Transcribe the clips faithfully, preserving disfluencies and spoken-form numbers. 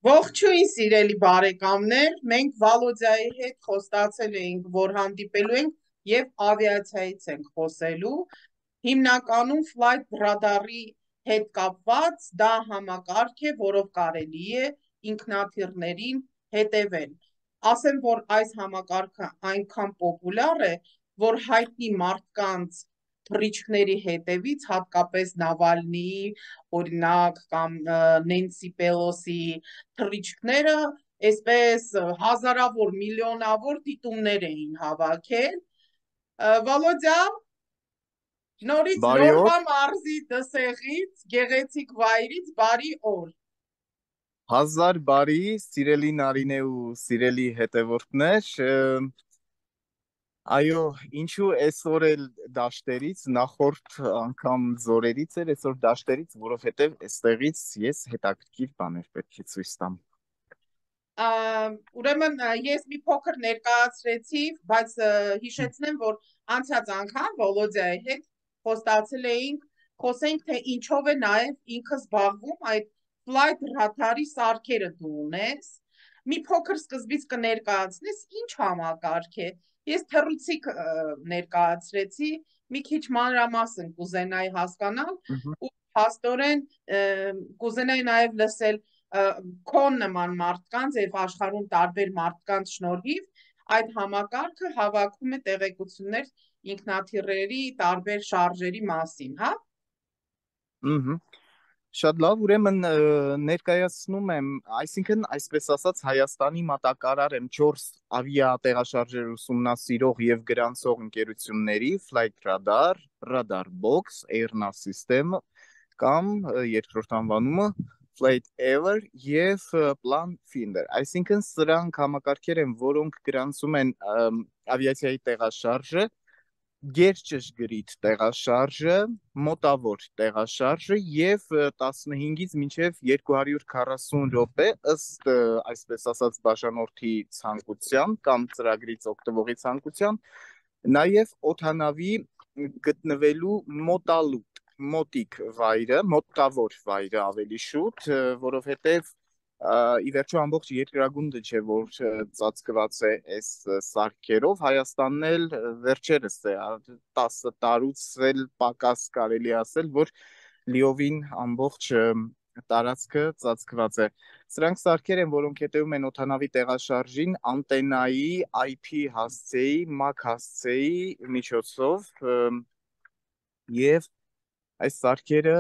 Ողջույն սիրելի բարեկամներ, մենք Վալոդիայի հետ խոստացել էինք, որ հանդիպելու ենք եւ ավիացիայից ենք խոսելու։ Հիմնականում flight radar-ի հետ կապված դա համակարգ է, որով կարելի է ինքնաթիռներին հետևել։ Ասեմ, որ այս համակարգը այնքան պոպուլյար է, որ հայտնի մարդկանց թռիչքների հետևից, հատկապես Նավալնիի, օրինակ, կամ Նենսի Պելոսի թռիչքները այսպես հազարավոր, միլիոնավոր դիտումներ էին հավաքել։ Վալոդյա, նորից Բարի օր, Լոռհա մարզի Դսեղից, գեղեցիկ վայրից բարի օր։ հազար բարի, սիրելի Նարինե ու սիրելի հետևորդներ, ը, այո, ինչու այսօր էլ դաշտերից, նախորդ անգամ զորերից էր, այսօր դաշտերից, որովհետև այստեղից ես հետաքրքիր բաներ պետք է ցույց տամ։ Ա, Ուրեմն ա, ես մի փոքր ներկայացրեցի, բայց ա, հիշեցնեմ, որ անցած անգամ Վոլոդիայի հետ խոստացել էինք, խոսենք, թե ինչով է նաև ինքը զբաղվում այդ flight radar-ի սարքերը դու ունես։ Մի փոքր սկզբից կներկայացնես, ինչ համակարգ է։ Ես թռուցիկ ա, ներկայացրեցի, մի քիչ մանրամասն կուզենայի հասկանալ Մгм. ու փաստորեն ա, կուզենայի նաև լսել ա, քո նման մարդկանց եւ աշխարհում տարբեր մարդկանց շնորհիվ այդ համակարգը հավաքում է տեղեկություններ ինքնաթիռերի տարբեր շարժերի մասին, հա։ Մгм. Շատ լավ, ուրեմն ը, ներկայացնում եմ, այսինքն այսպես ասած Հայաստանի մատակարար եմ չորս ավիատեղաշարժեր ուսումնասիրող եւ գրանցող ընկերությունների Flight Radar, Radar Box, Airnav System կամ ը, երկրորդ անվանումը Flight Ever եւ ը, Plan Finder։ Այսինքն սրանք համակարգեր են, որոնք գրանցում են ըմ, ավիացիայի տեղաշարժը, գերճշգրիտ տեղաշարժը, մոտավոր տեղաշարժը եւ ը, տասնհինգից մինչեւ երկու հարյուր քառասուն րոպե ըստ ը, այսպես ասած բաժանորդի ցանկության կամ ծրագրից օգտվողի ցանկության, նաեւ օդանավի գտնվելու մոտալուտ, մոտիկ վայրը, մոտավոր վայրը ավելի շուտ, ը, որովհետեւ ա, ի վերջո ամբողջ երկրագունդը չէ, որ ը, ծածկված է այս ը, սարքերով, Հայաստանն էլ ը, վերջերս է, ա, տասը տարուց էլ պակաս կարելի է ասել, որ լիովին ամբողջ ը, տարածքը ծածկված է։ Սրանք սարքեր են, որոնք հետևում են օդանավի տեղաշարժին անտենայի, I P հասցեի, MAC հասցեի միջոցով ը, եւ այս սարքերը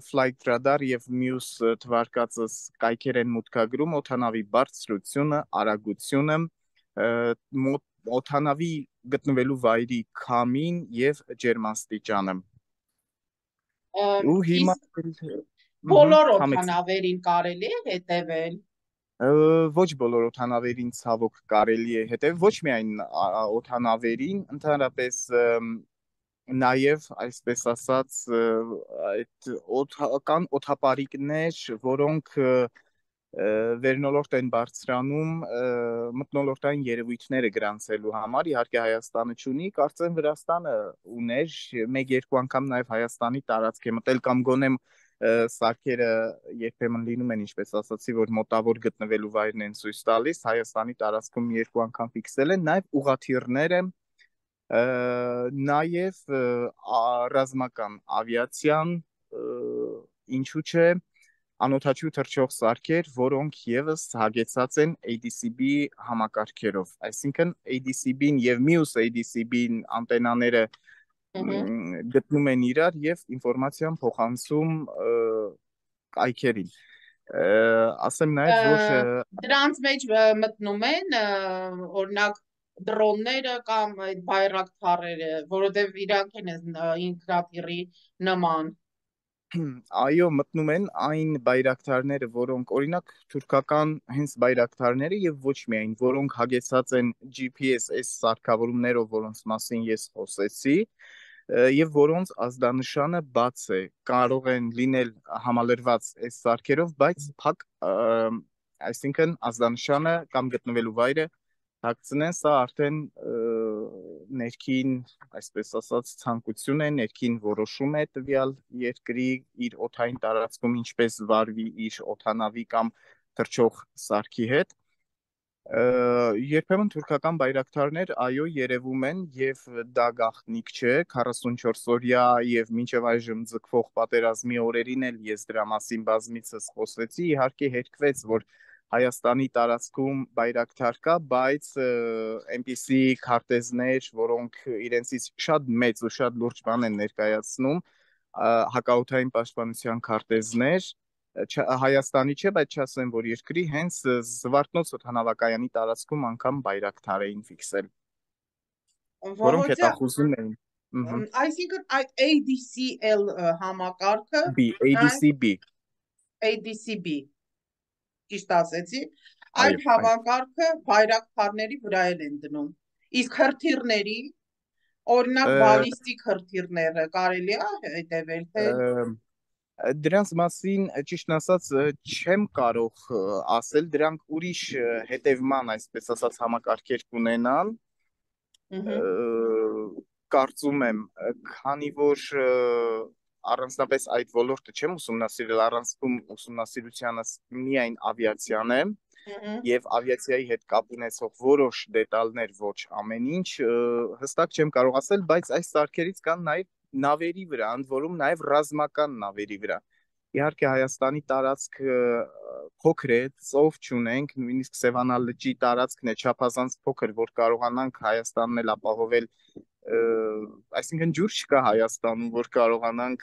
Flight Radar եւ մյուս ը, թվարկածս կայքեր են մուտքագրում օդանավի բարձրությունը, արագությունը, ը, մոտ, օդանավի գտնվելու վայրի քամին եւ ջերմաստիճանը։ Ա, Ու հիմա Իսկ մհմ, բոլոր համեցեք։ օդանավերին կարելի է հետևել։ Ը, Ոչ բոլոր օդանավերին ցավոք կարելի է հետև, ոչ միայն ա, ա, օդանավերին, ընդհանրապես ըմ, նաև այսպես ասած ը, այդ օդ- կան օդապարիկներ, որոնք ը, ը, վերնոլորտ են բարձրանում ը, մթնոլորտային երևույթները գրանցելու համար։ Իհարկե Հայաստանը չունի, կարծեմ Վրաստանը ուներ, մեկ-երկու անգամ նաև Հայաստանի տարածք է մտել կամ գոնե ը, սարքերը երբեմն լինում են, ինչպես ասացի, որ մոտավոր գտնվելու վայրն են ցույց տալիս, Հայաստանի տարածքում երկու անգամ ֆիքսել են, նաև ուղղաթիռները Ը, Նաև ը, ա- ռազմական ավիացիան, ը, ինչու՞ չէ, անօդաչու թռչող սարքեր, որոնք եւս հագեցած են A D C B համակարգերով։ Այսինքն A D C B-ն եւ մյուս A D C B-ն անտենաները Ըհը։ մ, գտնում են իրար եւ ինֆորմացիան փոխանցում ը, կայքերին։ Ը, Ասեմ Ա, նաեւ, որ ը, Դրանց մեջ ա, մտնում են ա, օրինակ դրոնները կամ այդ բայրակթարերը, որովհետև իրանք են այս, ա, ինքնաթիռի նման։ այո, մտնում են այն բայրակթարները, որոնք օրինակ թուրքական հենց բայրակթարները եւ ոչ միայն, որոնք հագեցած են G P S S սարքավորումներով, որոնց մասին ես խոսեցի, ը, եւ որոնց ազդանշանը բաց է, կարող են լինել համալրված այս սարքերով, բայց փակ, ը, այսինքն ազդանշանը կամ գտնվելու վայրը հագցնեն, սա արդեն ը, ներքին, այսպես ասած, ցանկություն է, ներքին որոշում է տվյալ երկրի իր օդային տարածքում ինչպես վարվի իր օդանավի կամ թռչող սարքի հետ։ Երբեմն թուրքական բայրակտարներ այո երևում են եւ դա գաղտնիք չէ քառասունչորս օրյա եւ մինչեւ այժմ ձգվող պատերազմի օրերին էլ ես դրա մասին բազմիցս խոսեցի, իհարկե հերկվեց, որ Հայաստանի տարածքում բայրակտար կա, բայց այնպիսի քարտեզներ, որոնք իրենցից շատ մեծ ու շատ լուրջ բան են ներկայացնում, հակաօդային պաշտպանության քարտեզներ, Հայաստանի չէ, բայց չասեմ, որ երկրի հենց Զվարթնոց օդանավակայանի տարածքում անգամ բայրակտար էին ֆիքսել, որոնք հետախուզում էին։ Այսինքն այդ A D C L համակարգը B, A D C B A D C B ճիշտ ասեցի, այդ համակարգը բայրակտարների վրա են դնում։ Իսկ հրթիռների, օրինակ բալիստիկ հրթիռները կարելի է հետևել, թե դրանց մասին ճիշտ ասած չեմ կարող ասել, դրանք ուրիշ հետևման, այսպես ասած, համակարգեր կունենան։ Կարծում եմ, քանի որ առանձնապես այդ ոլորտը չեմ ուսումնասիրել, առանցքում ուսումնասիրությանս միայն ավիացիան է եւ ավիացիայի հետ կապ ունեցող որոշ դետալներ, ոչ ամեն ինչ, հստակ չեմ կարող ասել, բայց այս սարքերից կան նաեւ նավերի վրա, ընդ որում նաեւ ռազմական նավերի վրա։ Իհարկե Հայաստանի տարածքը փոքր է, ծով չունենք, նույնիսկ Սևանա լճի տարածքն է չափազանց փոքր, որ կարողանանք Հայաստանն էլ ապահովել, այսինքն ջուր չկա Հայաստանում, որ կարողանանք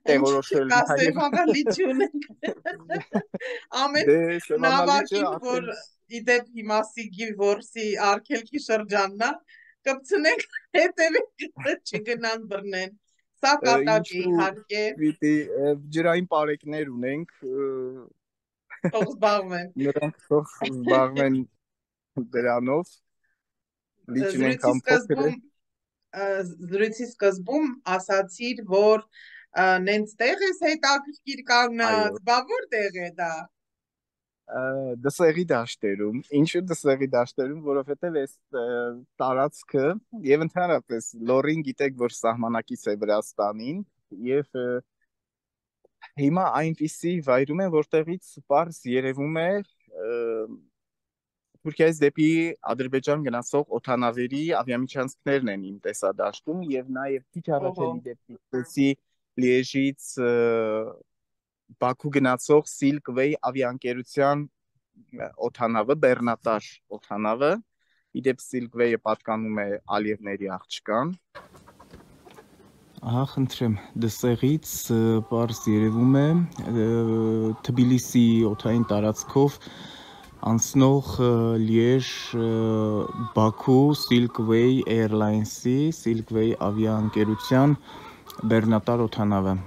տեղորոշել Սևանա լիճ ունենք։ Ամեն նավակին, որ իդեպ հիմա Սիգի որսի արգելքի շրջանն է, կպցնենք հետևի չգնան բռնեն։ Սա կատակ է իհարկե։ Պիտի ջրային պարեկներ ունենք։ Թող զբաղվեն։ Նրանք թող զբաղվեն դրանով։ Լիճն անգամ փոքր է։ Զրույցի սկզբում ասացիր, որ նենց տեղ ես հետաքրքիր կանգնած, բա որտեղ է դա։ Դսեղի դաշտերում, ինչու դսեղի դաշտերում, որովհետև այս տարածքը եւ ընդհանրապես լորին գիտեք, որ սահմանակից է Վրաստանին եւ հիմա այնպիսի վայրում են, որտեղից պարզ երևում է Թուրքիայից դեպի Ադրբեջան գնացող օդանավերի ավիամիջանցքներն են իմ տեսադաշտում եւ նաեւ քիչ առաջ էլի դեպի Լիեժից Բաքու գնացող Silkway ավիաընկերության օդանավը, բեռնատար օդանավը, իդեպ Silkway-ը պատկանում է Ալիևների աղջկան։ Ահա, խնդրեմ, դսեղից պարզ երևում է Թբիլիսի օդային տարածքով անցնող Լիեժ Բաքու Silkway Airlines-ի, Silkway ավիաընկերության բեռնատար օդանավը։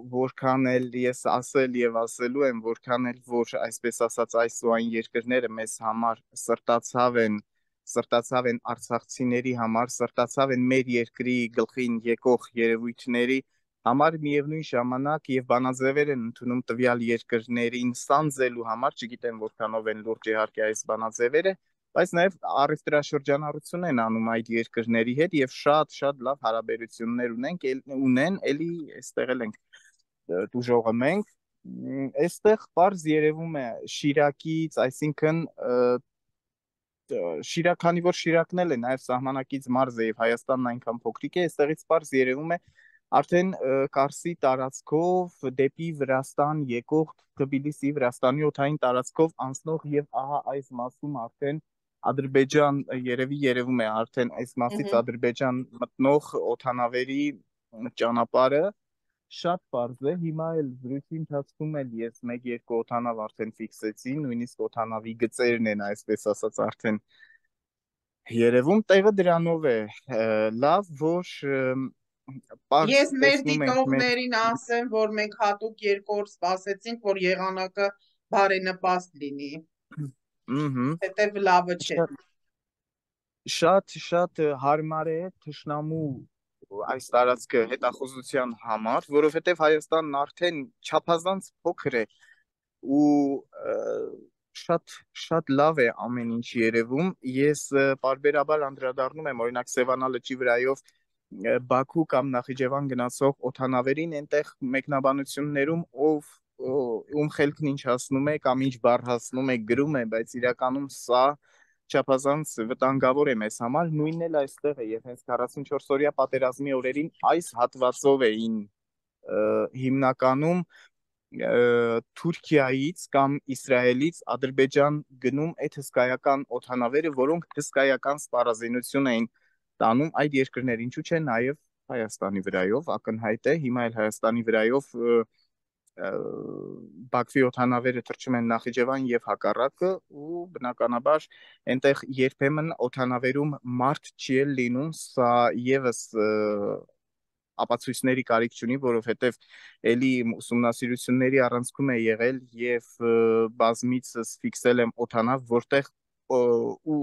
Որքան էլ ես ասել եւ ասելու եմ, որքան էլ որ այսպես ասած այս ու այն երկրները մեզ համար սրտացավ են, սրտացավ են արցախցիների համար, սրտացավ են մեր երկրի գլխին եկող երևույթների համար, միևնույն ժամանակ եւ բանաձևեր են ընդունում տվյալ երկրներին սանձելու համար, չգիտեմ որքանով են լուրջ իհարկե այս բանաձևերը, բայց նաեւ առևտրաշրջանառություն են անում այդ երկրների հետ եւ շատ-շատ լավ հարաբերություններ ունենք, ունեն, էլի այստեղ էլ ենք դուժողը մենք, այստեղ պարզ երևում է Շիրակից, այսինքն Շիրակ, քանի որ Շիրակն էլ է նաև սահմանակից մարզ է եւ Հայաստանն այնքան փոքրիկ է, այստեղից պարզ երևում է արդեն Կարսի տարածքով դեպի Վրաստան եկող Թբիլիսի Վրաստանի օդային տարածքով անցնող եւ ահա այս մասում արդեն Ադրբեջան երևի երևում է արդեն այս մասից Ադրբեջան մտնող օդանավերի ճանապարհը շատ պարզ է, հիմա էլ զրույցի ընթացքում էլ ես մեկ-երկու օդանավ արդեն ֆիքսեցի, նույնիսկ օդանավի գծերն են, այսպես ասած, արդեն երևում, տեղը դրանով է, լավ, որ պարզ ես մեր դիտողներին ասեմ, որ մենք հատուկ երկու օր սպասեցինք, որ եղանակը բարենպաստ լինի, հետև լավը չէ։ Շատ-շատ հարմար է թշնամու այս տարածքը հետախուզության համար, որովհետև Հայաստանն արդեն չափազանց փոքր է ու շատ շատ լավ է ամեն ինչ երևում։ Ես պարբերաբար անդրադառնում եմ օրինակ Սևանա լճի վրայով Բաքու կամ Նախիջևան գնացող օդանավերին այնտեղ մեկնաբանություններում ով ում խելքն ինչ հասնում է կամ ինչ բառ հասնում է գրում է, բայց իրականում սա չափազանց վտանգավոր է մեզ համար, նույնն էլ այստեղ է, եւ հենց քառասունչորս օրյա պատերազմի օրերին այս հատվածով էին հիմնականում Թուրքիայից կամ Իսրայելից Ադրբեջան գնում այդ հսկայական օդանավերը, որոնք հսկայական սպառազինություն էին տանում այդ երկրներ, ինչու՞ չէ նաև Հայաստանի վրայով, ակնհայտ է, հիմա էլ Հայաստանի վրայով Բաքվի օդանավերը թռչում են Նախիջևան եւ հակառակը, ու բնականաբար այնտեղ երբեմն օդանավերում մարդ չի էլ լինում, սա եւս ապացույցների կարիք չունի, որովհետև էլի ուսումնասիրությունների առանցքում է եղել եւ բազմիցս ֆիքսել եմ օդանավ, որտեղ ու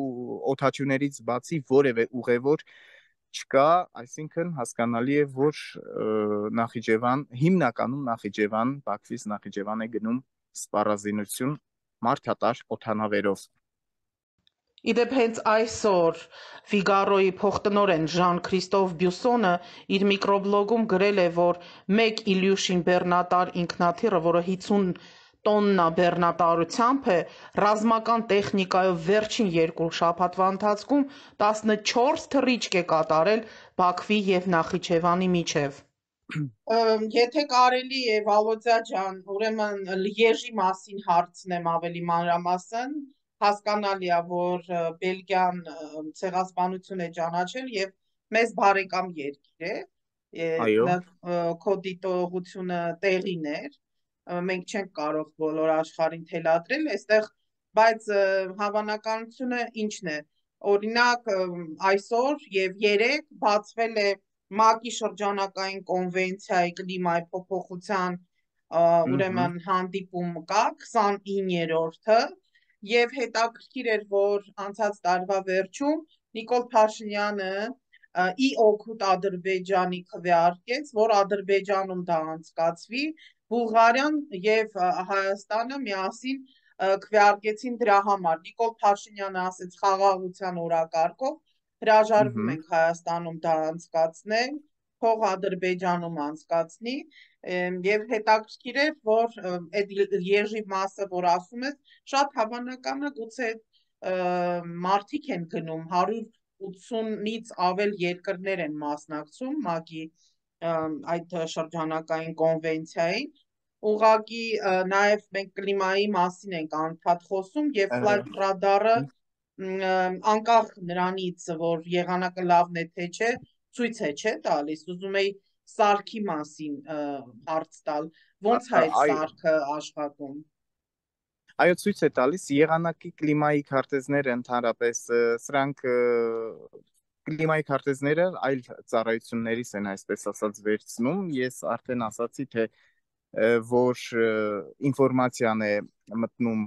օդաչուներից բացի որևէ ուղևոր չկա, այսինքն հասկանալի է, որ Նախիջևան, հիմնականում Նախիջևան, Բաքվից Նախիջևան է գնում սպառազինություն մարդատար օդանավերով։ Իդեպ հենց այսօր Ֆիգարոյի փոխտնօրեն Ժան-Քրիստոֆ Բյուսոնը իր միկրոբլոգում գրել է, որ մեկ Իլյուշին բեռնատար ինքնաթիռը, որը հիսուն տոննա բեռնատարությամբ է, ռազմական տեխնիկայով վերջին երկու շաբաթվա ընթացքում տասնչորս թռիչք է կատարել Բաքվի և Նախիջևանի միջև։ Եթե կարելի է, Վալոդյա ջան, ուրեմն Լիեժի մասին հարցնեմ ավելի մանրամասն, հասկանալի է, որ Բելգիան ցեղասպանություն է ճանաչել եւ մեզ բարեկամ երկիր է, քո դիտողությունը տեղին էր, մենք չենք կարող բոլոր աշխարհին թելադրել այստեղ, բայց հավանականությունը ինչն է, օրինակ այսօր եւ երեկ բացվել է ՄԱԿ-ի շրջանակային կոնվենցիայի կլիմայի փոփոխության ուրեմն հանդիպում կա քսանիններորդը եւ հետաքրքիր էր, որ անցած տարվա վերջում Նիկոլ Փաշինյանը ի օգուտ Ադրբեջանի քվեարկեց, որ Ադրբեջանում դա անցկացվի, Բուլղարիան եւ Հայաստանը միասին քվեարկեցին դրա համար։ Նիկոլ Փաշինյանը ասեց խաղաղության օրակարգով հրաժարվում ենք Հայաստանում դա անցկացնել, թող Ադրբեջանում անցկացնի եւ հետաքրքիր է, որ այդ Լիեժի մասը, որ ասում ես, շատ հավանական է, գուցե մարդիկ են գնում, հարյուր ութսունից ավել երկրներ են մասնակցում ՄԱԿ-ի այդ շրջանակային կոնվենցիային, ուղղակի նաեւ մենք կլիմայի մասին ենք անդադ խոսում եւ Flight Radar-ը անկախ նրանից, որ եղանակը լավն է թե չէ, ցույց է չէ տալիս, ուզում էի սարքի մասին հարց տալ, ոնց է այդ սարքը աշխատում։ Այո, ցույց է տալիս եղանակի կլիմայի քարտեզները ընդհանրապես, սրանք կլիմայի քարտեզները այլ ծառայություններից են, այսպես ասած, վերցնում, ես արդեն ասացի, թե որ ինֆորմացիան է մտնում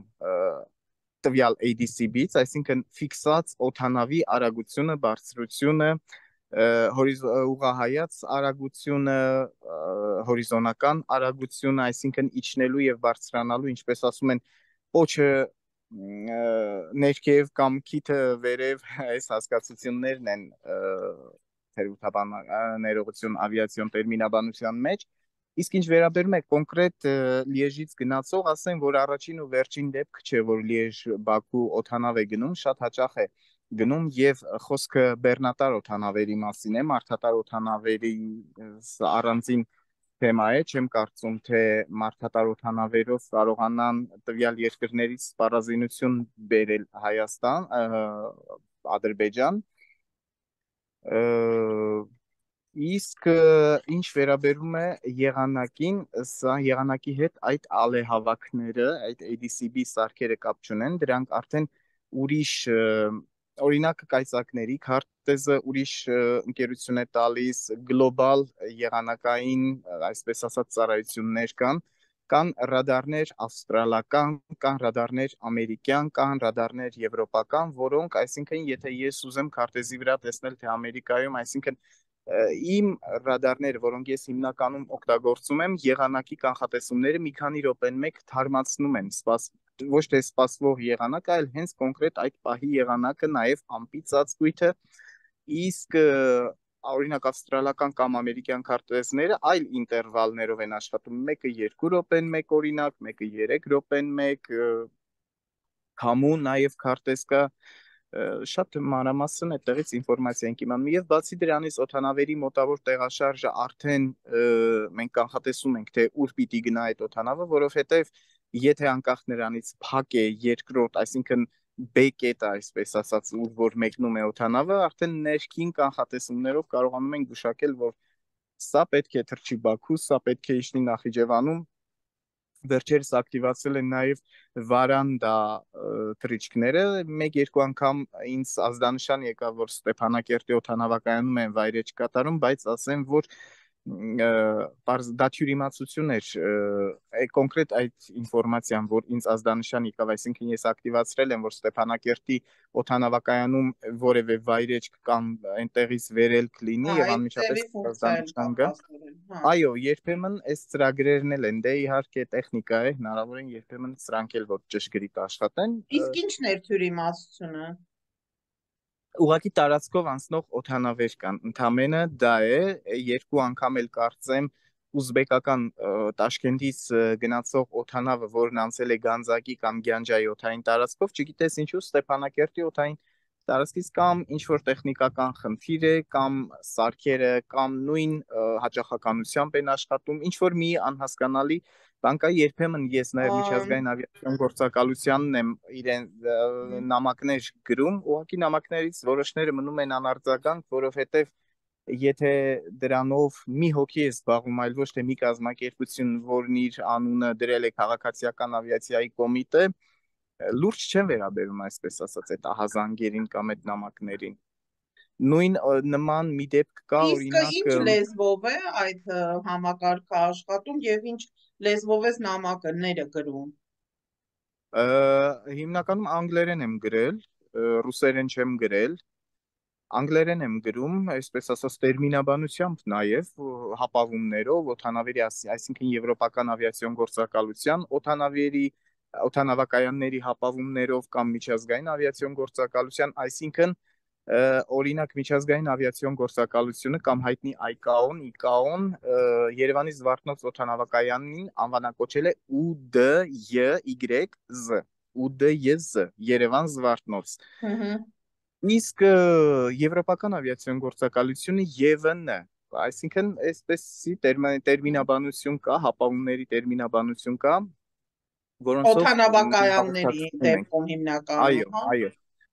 տվյալ A D C B-ից, այսինքն ֆիքսած օդանավի արագությունը, բարձրությունը, ուղղահայաց արագությունը, հորիզոնական արագությունը, այսինքն իջնելու եւ բարձրանալու, ինչպես ասում են, պոչը ներքև կամ քիթը վերև, այս հասկացություններն են թերութաբան ներողություն ավիացիոն տերմինաբանության մեջ, իսկ ինչ վերաբերում է կոնկրետ Լիեժից գնացող, ասեմ, որ առաջին ու վերջին դեպք չէ, որ Լիեժ-Բաքու օդանավ է գնում, շատ հաճախ է գնում եւ խոսքը բեռնատար օդանավերի մասին է, մարդատար օդանավերի առանձին թեմա է, չեմ կարծում, թե մարդատար օդանավերով կարողանան տվյալ երկրներից սպառազինություն բերել Հայաստան, Ադրբեջան, իսկ ինչ վերաբերում է եղանակին, սա եղանակի հետ այդ ալեհավաքները, այդ A D C B սարքերը կապ չունեն, դրանք արդեն ուրիշ օրինակ կայծակների քարտեզը ուրիշ ընկերություն է տալիս, գլոբալ եղանակային, այսպես ասած, ծառայություններ կան, կան ռադարներ ավստրալական, կան ռադարներ ամերիկյան, կան ռադարներ եվրոպական, որոնք, այսինքն, եթե ես ուզեմ քարտեզի վրա տեսնել, թե Ամերիկայում, այսինքն, իմ ռադարները, որոնք ես հիմնականում օգտագործում եմ, եղանակի կանխատեսումները մի քանի րոպեն մեկ թարմացնում են, ոչ թե սպասվող եղանակը, այլ հենց կոնկրետ այդ պահի եղանակը, նաև ամպի ծածկույթը, իսկ օրինակ ավստրալական կամ ամերիկյան քարտեզները այլ ինտերվալներով են աշխատում, մեկը երկու րոպեն մեկ օրինակ, մեկը երեք րոպեն մեկ, քամու նաև քարտեզ կա, շատ մանրամասն այդտեղից ինֆորմացիա ենք իմանում եւ բացի դրանից օդանավերի մոտավոր տեղաշարժը արդեն մենք կանխատեսում ենք թե ուր պիտի գնա այդ օդանավը, որովհետեւ եթե անկախ նրանից փակ է երկրորդ, այսինքն B կետը, այսպես ասած, ուր որ մեկնում է օդանավը, արդեն ներքին կանխատեսումներով կարողանում ենք գուշակել, որ սա պետք է թռչի Բաքու, սա պետք է իջնի Նախիջևանում։ Վերջերս ակտիվացել են նաև վարանդա թռիչքները, մեկ-երկու անգամ ինձ ազդանշան եկավ, որ Ստեփանակերտի օդանավակայանում են վայրեջք կատարում, բայց ասեմ, որ դա թյուրիմացություն էր, կոնկրետ այդ ինֆորմացիան, որ ինձ ազդանշան եկավ, այսինքն ես ակտիվացրել եմ, որ Ստեփանակերտի օդանավակայանում որևէ վայրեջք կամ այնտեղից վերելք լինի եւ անմիջապես ազդանշան գա։ Այո, երբեմն այս ծրագրերն էլ են, դե իհարկե տեխնիկա է, հնարավոր են երբեմն սրանք էլ որ ճշգրիտ աշխատեն։ Իսկ ի՞նչն էր թյուրիմացությունը։ Ուղղակի տարածքով անցնող օդանավեր կան, ընդամենը դա է, երկու անգամ էլ կարծեմ ուզբեկական Տաշկենտից գնացող օդանավը, որն անցել է Գանձակի կամ Գյանջայի օդային տարածքով, չգիտես ինչու Ստեփանակերտի օդային տարածքից կամ ինչ-որ տեխնիկական խնդիր է, կամ սարքերը, կամ նույն հաճախականությամբ են աշխատում, ինչ-որ մի անհասկանալի բան կա, երբեմն ես նաև միջազգային ավիացիոն գործակալությանն եմ իրեն նամակներ գրում, ուղղակի նամակներից որոշները մնում են անարձագանք, որովհետև եթե դրանով մի հոգի է զբաղվում, այլ ոչ թե մի կազմակերպություն, որն իր անունը դրել է քաղաքացիական ավիացիայի կոմիտե, լուրջ չեն վերաբերում, այսպես ասած, այդ ահազանգերին կամ այդ նամակներին։ Նույն նման մի դեպք կա, օրինակ։ Իսկ ինչ լեզվով է այդ համակարգը աշխատում եւ ինչ լեզվով է նամակները գրում։ Հիմնականում անգլերեն եմ գրել, ռուսերեն չեմ գրել, անգլերեն եմ գրում, այսպես ասած տերմինաբանությամբ նաև հապավումներով, օդանավերի, այսինքն եվրոպական ավիացիոն գործակալության օդանավերի օդանավակայանների հապավումներով կամ միջազգային ավիացիոն գործակալության, այսինքն օրինակ միջազգային ավիացիոն գործակալությունը կամ հայտնի այ կա օ-ն, ի կա օ-ն Երևանի Զվարթնոց օդանավակայանին անվանակոչել է ու դե յ զը, ու դե յ զը, Երևան Զվարթնոց։ Իսկ եվրոպական ավիացիոն գործակալությունը ե վը ն, այսինքն այսպեսի տերմինաբանություն կա, հապավումների տերմինաբանություն կա, որոնցով օդանավակայանների դեպքում հիմնականում, այո, այո։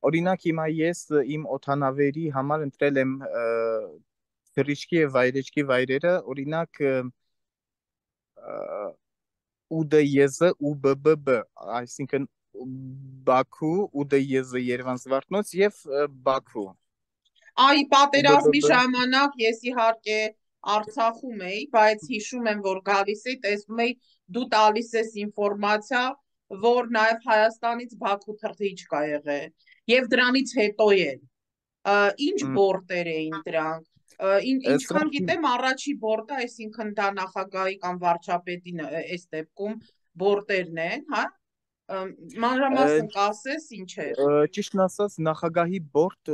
Օրինակ հիմա ես իմ օդանավերի համար ընտրել եմ թռիչքի եւ վայրեջքի վայրերը, օրինակ ու դե յ զը ու բը բը բը, այսինքն Բաքու, ու դե յ զը Երևան Զվարթնոց եւ Բաքու։ Այ պատերազմի ժամանակ ես իհարկե Արցախում էի, բայց հիշում եմ, որ գալիս էի, տեսնում էի դու տալիս ես ինֆորմացիա, որ նաև Հայաստանից Բաքու թռիչք կա եղել եւ դրանից հետո էլ ինչ բորտեր էին դրանք, ինչքան գիտեմ առաջի բորտը, այսինքն դա նախագահի կամ վարչապետի այս դեպքում բորտերն են, հա, մանրամասն կասես ինչ է։ Ճիշտն ասած նախագահի բորտ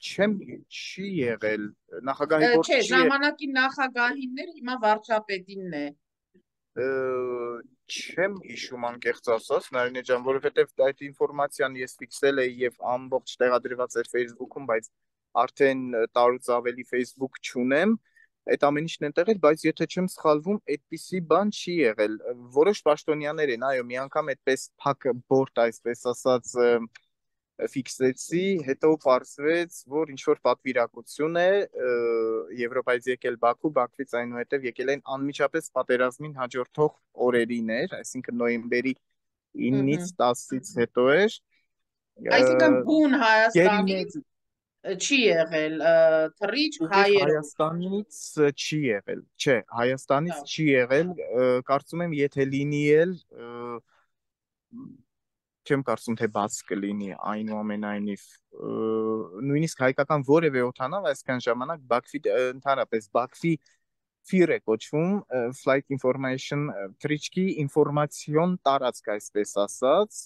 չեմ չի եղել, նախագահի բորտ չի, ժամանակի նախագահինն էր, հիմա վարչապետինն է։ Չեմ հիշում անկեղծ ասած, Նարինե ջան, որովհետև այդ ինֆորմացիան ես ֆիքսել էի եւ ամբողջ տեղադրված էր Facebook-ում, բայց արդեն տարուց ավելի Facebook չունեմ, այդ ամեն ինչն են տեղել, բայց եթե չեմ սխալվում, այդպիսի բան չի եղել։ Որոշ պաշտոնյաներ են, այո, մի անգամ այդպես փակ բորտ, այսպես ասած, ֆիքսեցի, հետո պարզվեց, որ ինչ-որ պատվիրակություն է Եվրոպայից եկել Բաքու, Բաքվից այնուհետև եկել են անմիջապես պատերազմին հաջորդող օրերին էր, այսինքն նոյեմբերի ինից տասից հետո էր։ Այսինքն բուն Հայաստանից չի եղել թռիչք հայերով։ Հայաստանից չի եղել, չէ, Հայաստանից չի եղել, կարծում եմ, եթե լինի էլ չեմ կարծում թե բաց կլինի այնուամենայնիվ, նույնիսկ հայկական որևէ օդանավ այսքան ժամանակ Բաքվի ընդհանրապես Բաքվի ֆիր է կոչվում, Flight Information թռիչքի ինֆորմացիոն տարածք, այսպես ասած,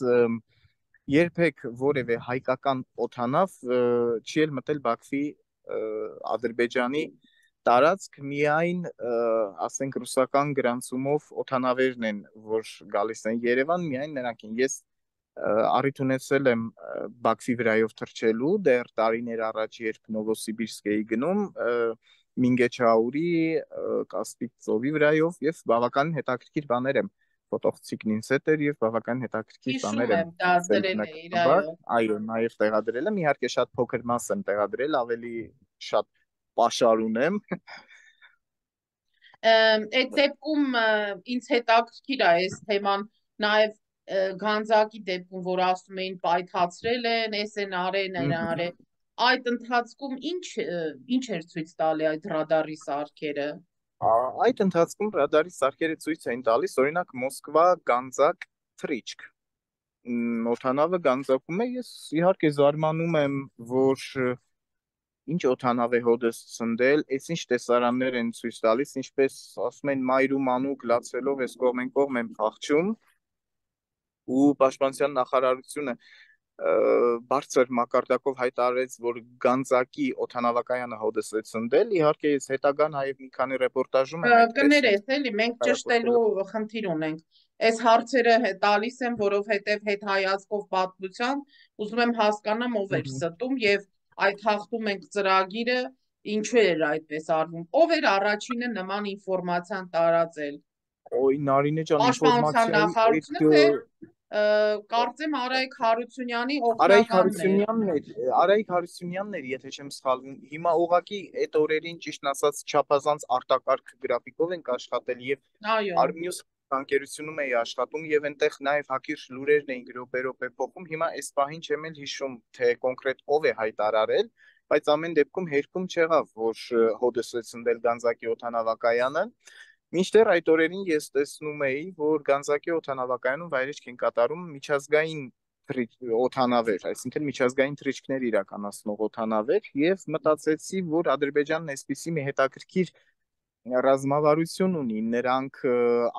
երբեք որևէ հայկական օդանավ չի էլ մտել Բաքվի Ադրբեջանի տարածք միայն ասենք ռուսական գրանցումով օթանավերն են, որ գալիս են Երևան, միայն նրանք են։ Ես առիթ ունեցել եմ Բաքվի վրայով թռչելու դեռ տարիներ առաջ, երբ Նովոսիբիրսկ էի գնում, Մինգեչաուրի, Կասպիկ ծովի վրայով, եւ բավականին հետաքրքիր բաներ եմ ֆոտոխցիկն ինձ հետ էր եւ բավականին հետաքրքիր բաներ եմ դրել էիր, այո։ Այո, նաեւ տեղադրել եմ, իհարկե շատ փոքր մաս եմ տեղադրել, ավելի շատ պաշար ունեմ։ Այդ դեպքում ինձ հետաքրքիր է այս թեման, նաեւ Գանձակի դեպքում, որ ասում էին պայթացրել են, էս են արել, են արել, այդ ընթացքում ինչ ինչ էր ցույց տալի այդ ռադարի սարքերը։ Այդ ընթացքում ռադարի սարքերը ցույց էին տալիս, օրինակ Մոսկվա Գանձակ թռիչք։ Օթանավը Գանձակում է, ես իհարկե զարմանում եմ, որ ինչ օթանավ է հոդս ցնդել, այս ինչ տեսարաններ են ցույց տալիս, ինչպես ասում են մայր ու մանուկ լացվելով էս կողմեն կողմ են փախչում, ու պաշտպանության նախարարությունը բարձր մակարդակով հայտարարեց, որ Գանձակի օթանավակայանը հոդս է ցնդել, իհարկե ես հետագան նաև մի քանի ռեպորտաժում եմ այդպես կներես, էլի մենք ճշտելու խնդիր ունենք։ Այս հարցերը տալիս եմ, որովհետև հետ հայացքով պատմության ուզում եմ հասկանամ ով էր ստում եւ այդ հաղթում ենք ծրագիրը ինչու էր այդպես արվում։ Ով էր առաջինը նման ինֆորմացիան տարածել։ Օй, Նարինե ջան, Պաշտպանության նախարարությունը կարծեմ Արայիկ Հարությունյանի Արայիկ օգնականն է։ Հարությունյանն էր, Արայիկ Հարությունյանն էր, եթե չեմ սխալվում։ Հիմա ուղղակի այդ օրերին ճիշտն ասած չափազանց արտակարգ գրաֆիկով ենք աշխատել եւ Արմյուս բանկերությունում էի աշխատում եւ այնտեղ նաեւ հակիրճ լուրերն էին գրոպերոպե փոխում։ Հիմա այս պահին չեմ էլ հիշում, թե կոնկրետ ով է հայտարարել, բայց ամեն դեպքում հերքում չեղավ, որ հոդս է ցնդել Գանձակի օթանավակայանը։ Մինչդեռ այդ օրերին ես տեսնում էի, որ Գանձակի օթանավակայանում վայրեջք են կատարում միջազգային օթանավեր, այսինքն միջազգային թռիչքներ իրականացնող օթանավեր, եւ մտածեցի, որ Ադրբեջանն այսպիսի մի հետաքրքիր ռազմավարություն ունի, նրանք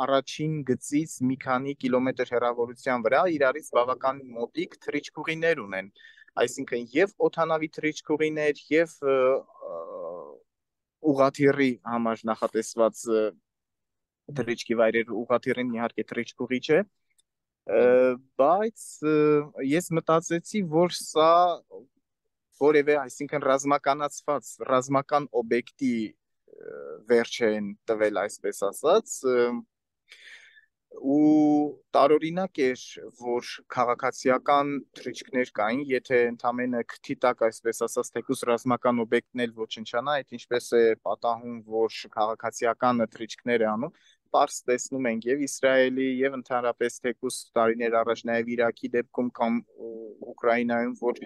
առաջին գծից մի քանի կիլոմետր հեռավորության վրա իրարից բավական մոտիկ թռիչքուղիներ ունեն, այսինքն եւ օթանավի թռիչքուղիներ եւ ուղղաթիռի համար նախատեսված թռիչքի վայրեր, ուղղաթիռին իհարկե թռիչքուղի չէ, բայց ես մտածեցի, որ սա որևէ, այսինքն ռազմականացված, ռազմական օբյեկտի վերջ են տվել, այսպես ասած, ու տարօրինակ էր, որ քաղաքացիական թռիչքներ կային, եթե ընդամենը քթի տակ, այսպես ասած, թեկուզ ռազմական օբյեկտն էլ ոչնչանա, այդ ինչպես է պատահում, որ քաղաքացիական թռիչքներ է անում, պարզ տեսնում ենք եւ Իսրայելի եւ ընդհանրապես թեկուզ տարիներ առաջ նաեւ Իրաքի դեպքում կամ Ուկրաինայում, որ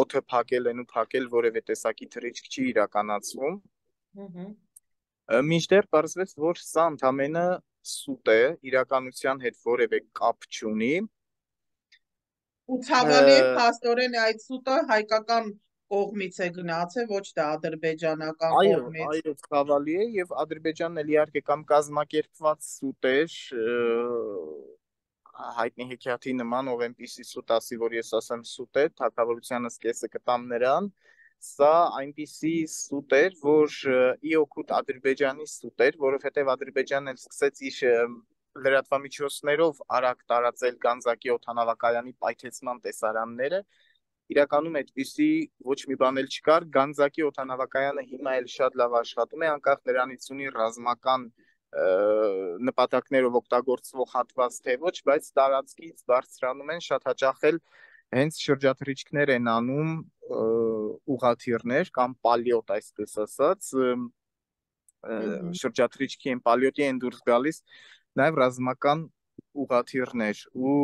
օդը փակել են ու փակել որևէ տեսակի թռիչք չի իրականացվում։ Մինչդեռ պարզվեց, որ սա ընդամենը սուտ է, իրականության հետ որևէ կապ չունի։ Ու ցավալի է, փաստորեն այդ սուտը հայկական կողմից է գնացել, ոչ թե ադրբեջանական կողմից։ Այո, այո, ցավալի է եւ Ադրբեջանն էլ իհարկե կամ կազմակերպված սուտ էր, հայտնի հեքիաթի նման, ով այնպիսի սուտ ասի, որ ես ասեմ սուտ է, թագավորությանս կեսը կտամ նրան, սա այնպիսի սուտ էր, որ ի օգուտ Ադրբեջանի սուտ էր, որովհետեւ Ադրբեջանն էլ սկսեց իր լրատվամիջոցներով արագ տարածել Գանձակի օթանավակայանի պայթեցման տեսարանները, իրականում այդպիսի ոչ մի բան էլ չկար, Գանձակի օթանավակայանը հիմա էլ շատ լավ աշխատում է, անկախ նրանից ունի ռազմական նպատակներով օգտագործվող հատված թե ոչ, բայց տարածքից բարձրանում են, շատ հաճախ էլ հենց շրջաթռիչքներ են անում ուղղաթիռներ կամ պալյոտ, այսպես ասած, շրջաթռիչքի են պալյոտի են դուրս գալիս նաև ռազմական ուղղաթիռներ ու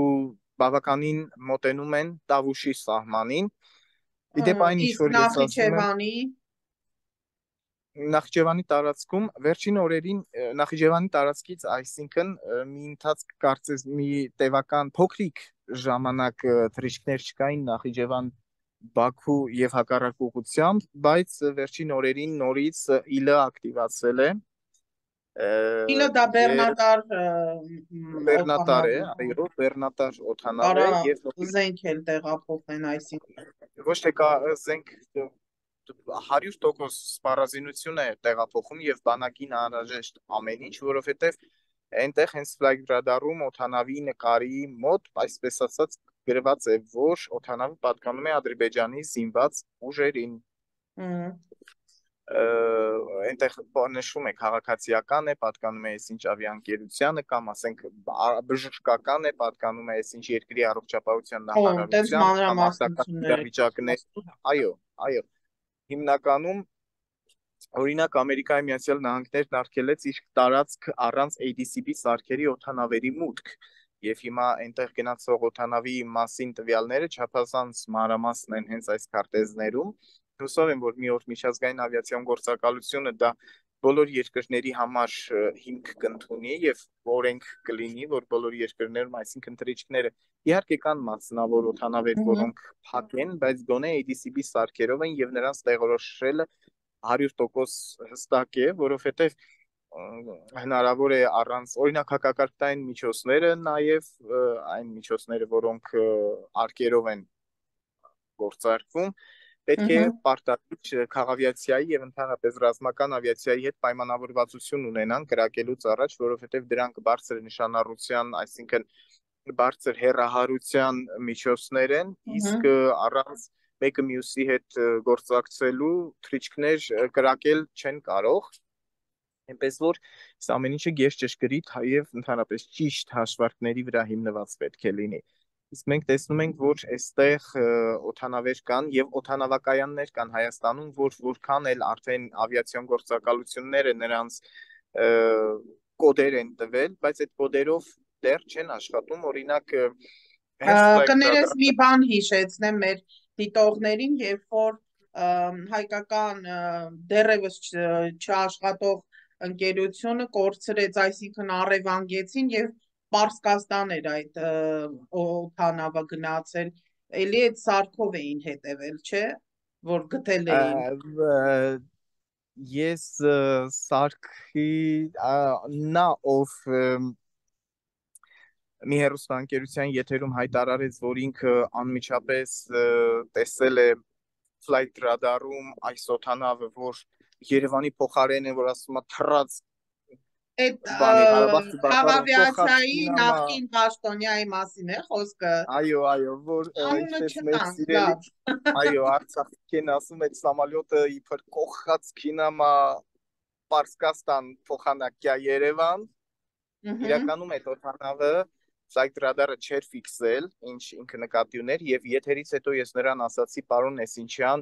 բավականին մոտենում են Տավուշի սահմանին։ Իդեպ այն ինչ որ ես ասում եմ, Նախիջևանի տարածքում վերջին օրերին Նախիջևանի տարածքից, այսինքն մի ընթացք կարծես մի տևական փոքրիկ ժամանակ թռիչքներ չկային Նախիջևան Բաքու եւ հակառակ ուղղությամբ, բայց վերջին օրերին նորից ԻԼ-ը ակտիվացել է։ ԻԼ-ը դա բեռնատար բեռնատար է, այո, բեռնատար օթանավ է եւ զենք էլ տեղափոխեն, այսինքն ոչ թե կա զենք հարյուր տոկոս սպառազինություն է տեղափոխում եւ բանակին անհրաժեշտ ամեն ինչ, որովհետեւ այնտեղ հենց ֆլայգ ռադարում օթանավի նկարի մոտ, այսպես ասած, գրված է, որ օթանավը պատկանում է Ադրբեջանի զինված ուժերին։ Այնտեղ նշվում է քաղաքացիական է, պատկանում է այսինչ ավիաընկերությանը կամ ասենք բժշկական է, պատկանում է այսինչ երկրի առողջապահության նախարարության կամ արտակարգ իրավիճակներ։ Այո, այո։ Հիմնականում օրինակ Ամերիկայի Միացյալ Նահանգներն արգելեց իր տարածք առանց A D C P սարքերի օթանավերի մուտք, եւ հիմա այնտեղ գնացող օթանավի մասին տվյալները չափազանց մանրամասն են հենց այս քարտեզներում։ Հուսով եմ, որ մի օր միջազգային ավիացիոն գործակալությունը դա բոլոր երկրների համար հիմք կընդունի եւ օրենք կլինի, որ բոլոր երկրներում, այսինքն թռիչքները իհարկե կան մասնավոր օթանավեր, որոնք փակ են, բայց գոնե A D C P սարքերով են եւ նրանց տեղորոշելը հարյուր տոկոս հստակ է, որովհետեւ հնարավոր է առանց օրինակ հակակարգային միջոցները, նաեւ այն միջոցները, որոնք արկերով են գործարկվում, պետք է պարտադիր քաղավիացիայի եւ ընդհանրապես ռազմական ավիացիայի հետ պայմանավորվածություն ունենան կրակելուց առաջ, որովհետեւ դրանք բարձր նշանառության, այսինքն բարձր հեռահարության միջոցներ են, իսկ առանց մեկը մյուսի հետ գործակցելու թռիչքներ կրակել չեն կարող։ Այնպես որ այս ամեն ինչը գերճշգրիտ եւ ընդհանրապես ճիշտ հաշվարկների վրա հիմնված պետք է լինի։ Իսկ մենք տեսնում ենք, որ այստեղ օթանավեր կան եւ օթանավակայաններ կան Հայաստանում, որ որքան էլ արդեն ավիացիոն գործակալությունները նրանց կոդեր են տվել, բայց այդ կոդերով դեռ չեն աշխատում, օրինակ կներես մի բան հիշեցնեմ մեր դիտողներին, երբ որ հայկական դեռևս չաշխատող ընկերությունը կորցրեց, այսինքն առևանգեցին եւ Պարսկաստան էր այդ օթանավը գնացել, էլի այդ սարքով էին հետևել, չէ, որ գտել էին։ Ես սարքի նա ով մի հեռուստաընկերության եթերում հայտարարեց, որ ինքը անմիջապես տեսել է ֆլայգ ռադարում այս օթանավը, որ Երևանի փոխարեն է, որ ասում է թռած այդ քաղավիացիայի նախկին պաշտոնյայի մասին է խոսքը։ Այո, այո, որ ինչպես մեր սիրելի, այո, Արցախին ասում այդ սամալյոտը իբր կողած քինամա Պարսկաստան փոխանակյա Երևան։ Իրականում այդ օթանավը ֆլայգ ռադարը չէր ֆիքսել, ինչ ինքը նկատի ուներ, եւ եթերից հետո ես նրան ասացի, պարոն Էսինչյան,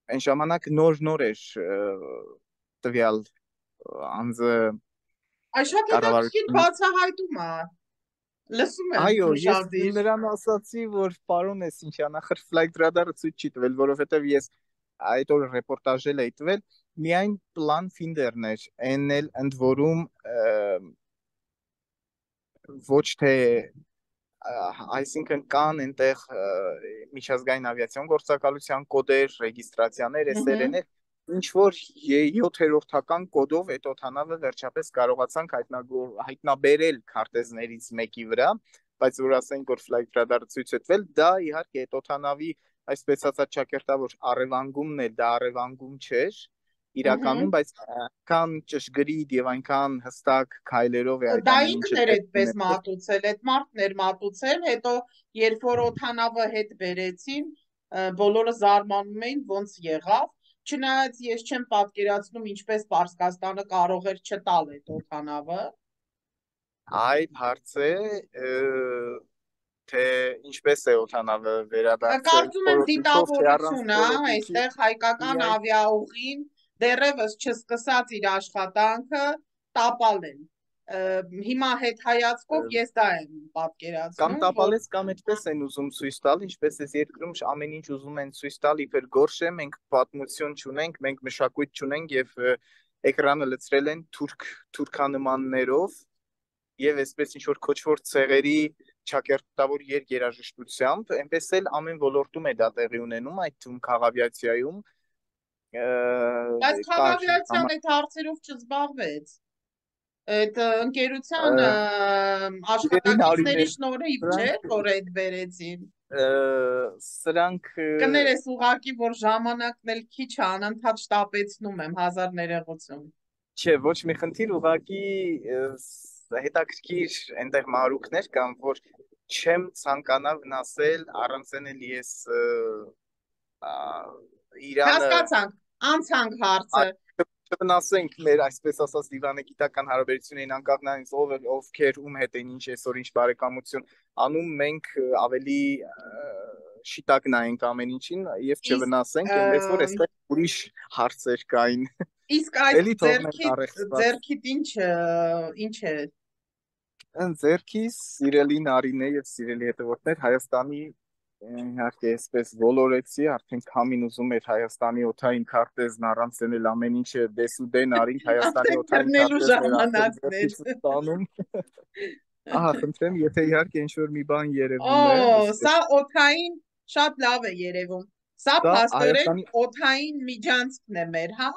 այն ժամանակ նոր-նոր էր տվյալ անձը Այս շատ հետաքրքիր բացահայտում է։ Լսում եմ։ Այո, ես նրան ասացի, որ պարոն Էսինչյան, ախր ֆլայգ ռադարը ցույց չի տվել, որովհետեւ ես այդ օրը ռեպորտաժել էի տվել, միայն պլան ֆինդերն էր, այն էլ ընդ որում ոչ թե այսինքն կան այնտեղ միջազգային ավիացիոն գործակալության կոդեր, ռեգիստրացիաներ, էսերեներ, ինչ որ յոթերորդական կոդով այդ օթանավը վերջապես կարողացանք հայտնաբերել քարտեզներից մեկի վրա, բայց որ ասենք որ ֆլայգ ռադարը ցույց է տվել, դա իհարկե այդ օթանավի այսպես ասած ճակերտավոր առևանգումն է, դա առևանգում չէր իրականում, բայց այնքան ճշգրիտ եւ այնքան հստակ քայլերով է այդ ամենը ինքն էր այդպես մատուցել, այդ մարդն էր մատուցել, հետո երբ որ օթանավը հետ բերեցին, բոլորը զարմանում էին ոնց եղավ, չնայած ես չեմ պատկերացնում ինչպես Պարսկաստանը կարող էր չտալ այդ օթանավը։ Այդ հարց է, թե ինչպես է օթանավը վերադարձել։ Կարծում եմ դիտավորություն է, այստեղ հայկական ավիաուղին դեռևս չսկսած իր աշխատանքը տապալ են։ Հիմա հետ հայացքով ես դա եմ պատկերացնում։ Կամ տապալես կամ այդպես են ուզում ցույց տալ, ինչպես էս երկրում ամեն ինչ ուզում են ցույց տալ իբր գորշ է, մենք պատմություն չունենք, մենք մշակույթ չունենք եւ էկրանը լցրել են թուրք թուրքանմաններով եւ այսպես ինչ որ քոչվոր ցեղերի ճակերտավոր երգերաժշտությամբ, այնպես էլ ամեն ոլորտում է դա տեղի ունենում, այդ թվում քաղավիացիայում։ Բայց քաղավիացիան այդ հարցերով չզբաղվեց։ Այդ ընկերության աշխատակիցների շնորհիվ չէ, որ այդ վերեցին։ Սրանք Կներես ուղակի, որ ժամանակն էլ քիչ է, անընդհատ շտապեցնում եմ, հազար ներողություն։ չէ, ոչ մի խնդիր, ուղղակի հետաքրքիր այնտեղ մարուկներ կան, որ չեմ ցանկանա վնասել, առանցեն էլ ես Իրանը Հասկացանք, անցանք հարցը։ չվնասենք մեր այսպես ասած դիվանագիտական հարաբերություններին, անկախ նրանից ով է ովքեր ում հետ են ինչ այսօր ինչ բարեկամություն անում, մենք ավելի շիտակ նայենք ամեն ինչին եւ չվնասենք, այնպես որ այստեղ ուրիշ հարցեր կային։ Իսկ այդ Էլի թողնենք ձերքիդ առեղծված։ ձերքիդ ինչ ինչ է։ Ձերքիս սիրելի Նարինե եւ սիրելի հետևորդներ, Հայաստանի իհարկե այսպես ոլորեցի, արդեն քամին ուզում էր Հայաստանի օթային քարտեզն առանց դնել ամեն ինչը դեսուդեն արինք Հայաստանի օթային քարտեզները ստանում։ Ահա, խնդրեմ, եթե իհարկե ինչ-որ մի բան երևում է։ Օ, սա օթային շատ լավ է երևում։ Սա փաստորեն օթային միջանցքն է մեր, հա,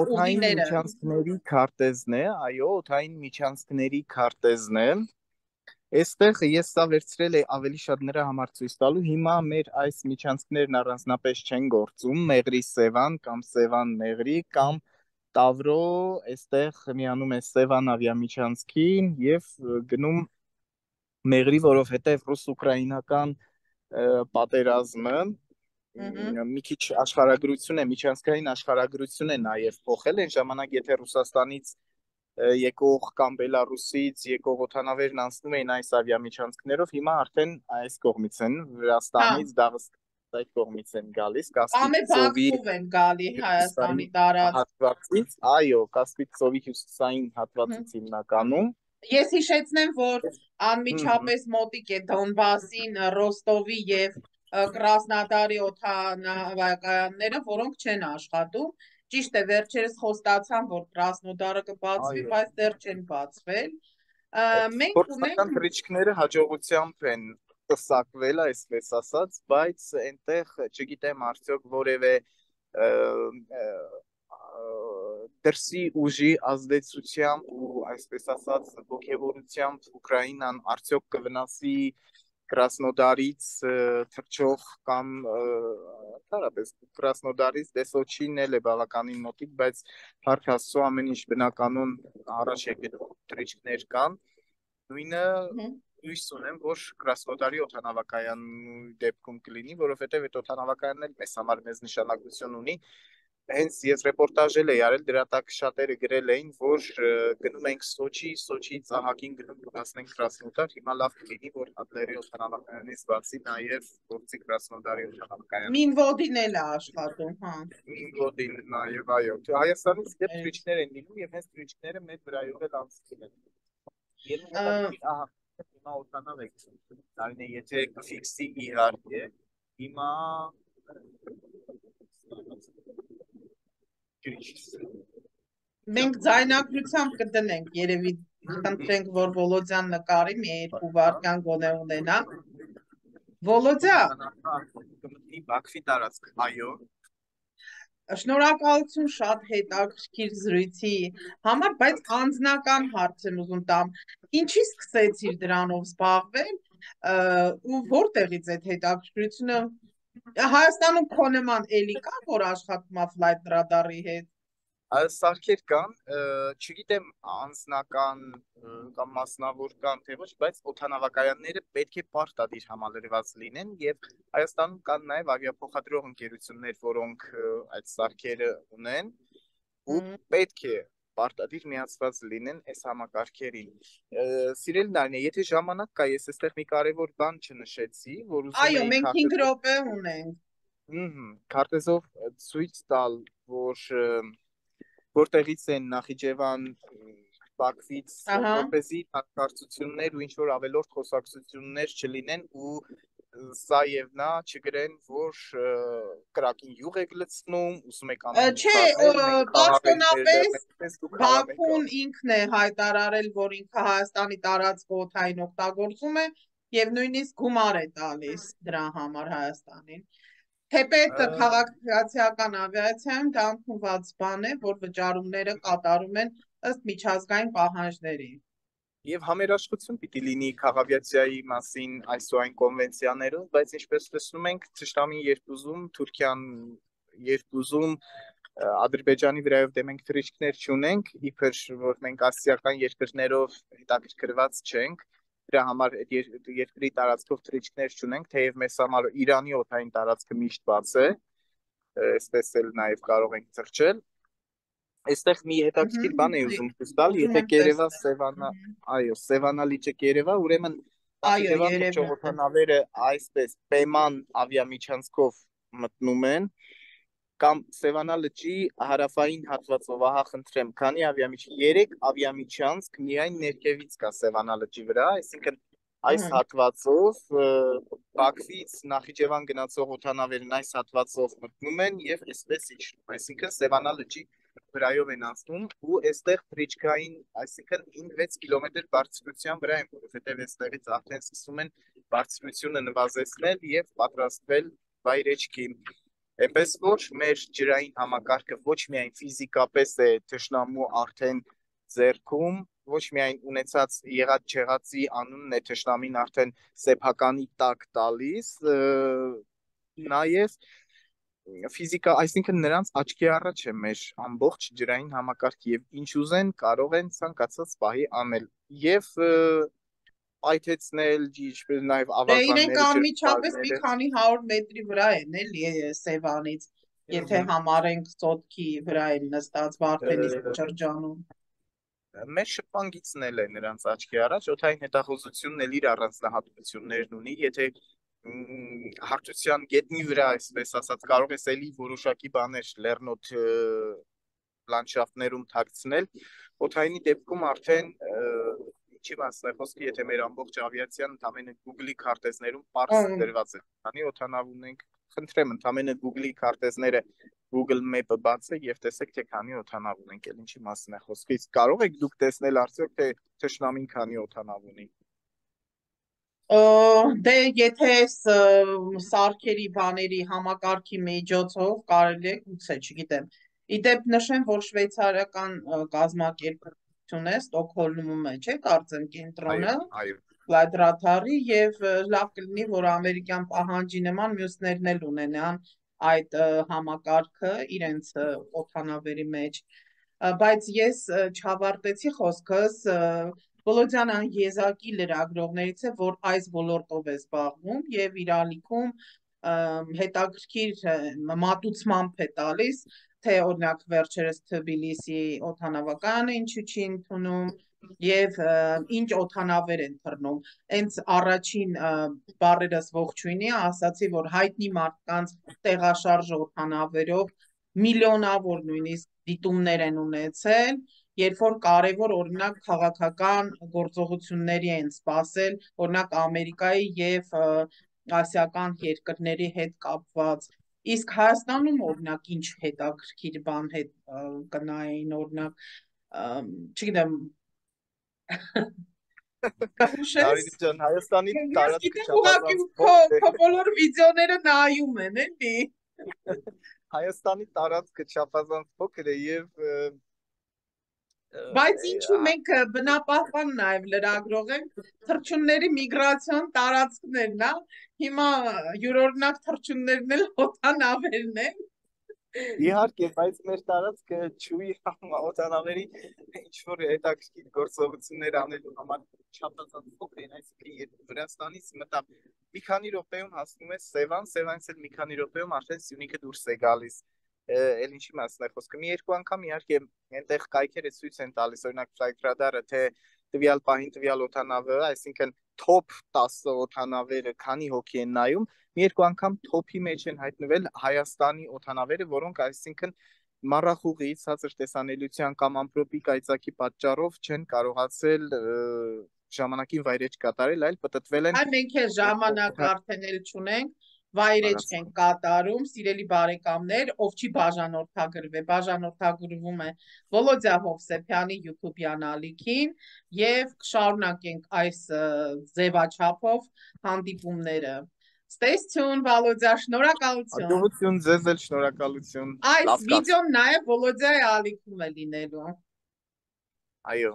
օթային միջանցքների քարտեզն է, այո, օթային միջանցքների քարտեզն է։ Այստեղ ես սա վերցրել եմ ավելի շատ նրա համար ցույց տալու։ Հիմա մեր այս միջանցքներն առանձնապես չեն գործում, Մեղրի Սևան կամ Սևան Մեղրի կամ Տավրո, այստեղ միանում է Սևան ավիամիջանցքին եւ գնում Մեղրի, որովհետեւ ռուս-ուկրաինական պատերազմը մի քիչ աշխարհագրություն է, միջանցքային աշխարհագրություն է նաեւ փոխել այն ժամանակ, եթե Ռուսաստանից եկող կամ Բելարուսից եկող օդանավերն անցնում էին այս ավիամիջանցքներով, հիմա արդեն այս կողմից են, Վրաստանից, Դաղստանից այդ կողմից են գալիս, Կասպից ծովի են գալի Հայաստանի տարածքից, այո, Կասպից ծովի հյուսիսային հատվածից հիմնականում։ Ես հիշեցնեմ, որ անմիջապես մոտիկ է Դոնբասին, Ռոստովի եւ Կրասնոդարի օդանավակայանները, որոնք չեն աշխատում։ Ճիշտ է, վերջերս խոստացան, որ Կրասնոդարը կբացվի, բայց դեռ չեն բացվել։ Մենք ունենք թռիչքները հաջողությամբ են տեսակվել, այսպես ասած, բայց այնտեղ չգիտեմ արդյոք որևէ դրսի ուժի ազդեցությամբ ու այսպես ասած ոգևորությամբ Ուկրաինան արդյոք կվնասի Կրասնոդարից թռչող կամ տարապես Կրասնոդարից Դեսոչին էլ է բավականին մոտիկ, բայց հարկ Աստծո ամեն ինչ բնականon առաջ եկել թռիչքներ կան։ Նույնը հույս ունեմ, որ Կրասնոդարի օդանավակայանի դեպքում կլինի, որովհետև այդ օդանավակայանն էլ մեզ համար մեծ նշանակություն ունի։ Հենց ես ռեպորտաժ էլ էի արել, դրա տակ շատերը գրել էին, որ գնում ենք Սոչի, Սոչից ահագին գնում կհասնենք Կրասնոդար, հիմա լավ կլինի, որ Ադլերի օդանավակայանից բացի նաև գործի Կրասնոդարի օդանավակայանը։ Մինվոդին էլ է աշխատում, հա։ Մինվոդին նաև, այո։ Հայաստանից դեպ թռիչքներ են լինում եւ հենց թռիչքները մեր վրայով էլ անցնում են։ Երբ ահա հիմա օդանավ եք, դարին եթե կֆիքսի իհարկե, հիմա Մենք ձայնագրությամբ կդնենք, երևի խնդրենք, որ Վոլոդյան նկարի մի երկու վայրկյան գոնե ունենա։ Վոլոդյա, Բաքվի տարածք, այո։ Շնորհակալություն շատ հետաքրքիր զրույցի համար, բայց անձնական հարց եմ ուզում տամ։ Ինչի սկսեցիր դրանով զբաղվել ու որտեղից այդ հետաքրքրությունը Հայաստանում քո նման էլի կա, որ աշխատում է Flight Radar-ի հետ։ Սարքեր կան, չգիտեմ անձնական կամ մասնավոր կան թե ոչ, բայց օդանավակայանները պետք է պարտադիր համալրված լինեն եւ Հայաստանում կան նաեւ ավիափոխադրող ընկերություններ, որոնք այդ սարքերը ունեն ու պետք է պարտադիր միացված լինեն այս համակարգերին։ Սիրելի Նարինե, եթե ժամանակ կա, ես այստեղ մի կարևոր բան չնշեցի, որ ուզում եմ։ Այո, մենք հինգ րոպե ունենք։ Ահա, քարտեզով ցույց տալ, որ որտեղից են Նախիջևան, Բաքվից, որպեսզի հակարծություններ ու ինչ-որ ավելորդ խոսակցություններ չլինեն ու սա եւ նա չգրեն, որ կրակին յուղ եք լցնում, ուզում եք անում։ Չէ, պաշտոնապես Բաքուն ինքն է հայտարարել, որ ինքը Հայաստանի տարածքը օդային օգտագործում է եւ նույնիսկ գումար է տալիս դրա համար Հայաստանին։ Թեպետ քաղաքացիական ավիացիայում դա ընդունված բան է, որ վճարումները կատարում են ըստ միջազգային պահանջների։ Եվ համերաշխություն պիտի լինի քաղավիացիայի մասին այս ու այն կոնվենցիաներով, բայց ինչպես տեսնում ենք, թշնամին երբ ուզում, Թուրքիան երբ ուզում, Ադրբեջանի վրայով դե մենք թռիչքներ չունենք, իբր որ մենք ասիական երկրներով հետաքրքրված չենք, դրա համար երկրի տարածքով թռիչքներ չունենք, թեև մեզ համար Իրանի օդային տարածքը միշտ բաց է, այսպես էլ նաև կարող ենք թռչել։ Այստեղ մի հետաքրքիր բան է ուզում ցույց տալ, եթե կերևա Սևանա, այո, Սևանա լիճը կերևա, ուրեմն Նախիջևանի ճողոթանավերը այսպես պայման ավիամիջանցքով մտնում են, կամ Սևանա լճի հարավային հատվածով, ահա խնդրեմ, քանի ավիամիջանց, երեք ավիամիջանցք միայն ներքևից կա Սևանա լճի վրա, այսինքն այս հատվածով Բաքվից Նախիջևան գնացող օդանավերն այս հատվածով մտնում են եւ այսպես իջնում, այսինքն Սևանա լճի վրայով են անցնում ու այստեղ թռիչքային, այսինքն հինգ-վեց կիլոմետր բարձրության վրա են, որովհետեւ այստեղից արդեն սկսում են բարձրությունը նվազեցնել եւ պատրաստվել վայրեջքի։ Այնպես որ մեր ջրային համակարգը ոչ միայն ֆիզիկապես է թշնամու արդեն ձեռքում, ոչ միայն ունեցած եղած չեղածի անունն է թշնամին արդեն սեփականի տակ տալիս, նաև ֆիզիկա, այսինքն նրանց աչքի առաջ է մեր ամբողջ ջրային համակարգը եւ ինչ ուզեն կարող են ցանկացած պահի անել եւ այթեցնել, ինչպես նաև ավազանները, իրենք անմիջապես մի քանի հարյուր մետրի վրա են էլի Սևանից, եթե համարենք ծոտքի վրա են նստած Վարդենիսի շրջանում։ Մեր շփանգիցն էլ է նրանց աչքի առաջ, օդային հետախուզությունն էլ իր առանձնահատկություններն ունի, եթե հարթության գետնի վրա, այսպես ասած, կարող ես էլի որոշակի բաներ լեռնոտ լանդշաֆտներում թաքցնել, օդայինի դեպքում արդեն ինչի մասն է խոսքը, եթե մեր ամբողջ ավիացիան ընդամենը Google-ի քարտեզներում պարզ դրված է, քանի օդանավ ունենք, խնդրեմ, ընդամենը Google-ի քարտեզները Google Map-ը բացեք եւ տեսեք, թե քանի օդանավ ունենք, էլ ինչի մասն է խոսքը, իսկ կարող եք դուք տեսնել արդյոք, թե թշնամին քանի օդանավ ունի։ Դե եթե սարքերի բաների համակարգի միջոցով կարելի է, գուցե, չգիտեմ։ Իդեպ նշեմ, որ շվեյցարական կազմակերպություն է, Ստոկհոլմում է, չէ՞, կարծեմ կենտրոնը, Ֆլայտ եւ լավ կլինի, որ ամերիկյան պահանջի նման մյուսներն էլ ունենան այդ համակարգը իրենց օդանավերի մեջ, բայց ես չավարտեցի խոսքս, Բոլոդյանան եզակի լրագրողներից է, որ այս ոլորտով է զբաղվում եւ իր ալիքում հետաքրքիր մատուցմամբ է տալիս, թե օրինակ վերջերս Թբիլիսի օդանավակայանը ինչու չի ընդունում եւ ինչ օդանավեր են թռնում։ Հենց առաջին բառերս ողջույնի ասացի, որ հայտնի մարդկանց տեղաշարժ օդանավերով միլիոնավոր նույնիսկ դիտումներ են ունեցել, երբ որ կարևոր օրինակ քաղաքական գործողությունների են սպասել, օրինակ Ամերիկայի եւ ասիական երկրների հետ կապված, իսկ Հայաստանում օրինակ ինչ հետաքրքիր բան հետ կնային, օրինակ, չգիտեմ, Կարինե ջան, Հայաստանի տարածքը չափազանց բոլոր վիդեոները նայում են, էլի։ Հայաստանի տարածքը չափազանց փոքր է եւ Բայց ինչու մենք բնապահպան նաև լրագրող ենք, թռչունների միգրացիոն տարածքներն է, հիմա յուրօրինակ թռչուններն էլ օդանավերն են։ Իհարկե, բայց մեր տարածքը չուի օդանավերի ինչ-որ հետաքրքիր գործողություններ անելու համար չափազանց փոքր են, այսինքն Վրաստանից մտա մի քանի րոպեում հասնում է Սևան, Սևանից էլ մի քանի րոպեում արդեն Սյունիքը դուրս է գալիս։ Էլ ինչի մասն է խոսքը, մի երկու անգամ իհարկե այնտեղ կայքերը ցույց են տալիս, օրինակ Flight Radar-ը, թե տվյալ պահին տվյալ օդանավը, այսինքն top տասը օդանավերը քանի հոգի են նայում, մի երկու անգամ top-ի մեջ են հայտնվել Հայաստանի օդանավերը, որոնք այսինքն մառախուղի, ցածր տեսանելիության կամ ամպրոպի կայծակի պատճառով չեն կարողացել ժամանակին վայրեջք կատարել, այլ պտտվել են։ Այ մենք էլ ժամանակ արդեն էլ չունենք, վայրեջք են կատարում, սիրելի բարեկամներ, ով չի բաժանորդագրվել, բաժանորդագրվում է Վոլոդյա Հովսեփյանի YouTube-յան ալիքին եւ կշարունակենք այս ձևաչափով հանդիպումները։ Stay tuned, Վոլոդյա, շնորհակալություն։ Ողջույն ձեզ էլ, շնորհակալություն։ Այս վիդեոն նաեւ Վոլոդյայի ալիքում է լինելու։ Այո։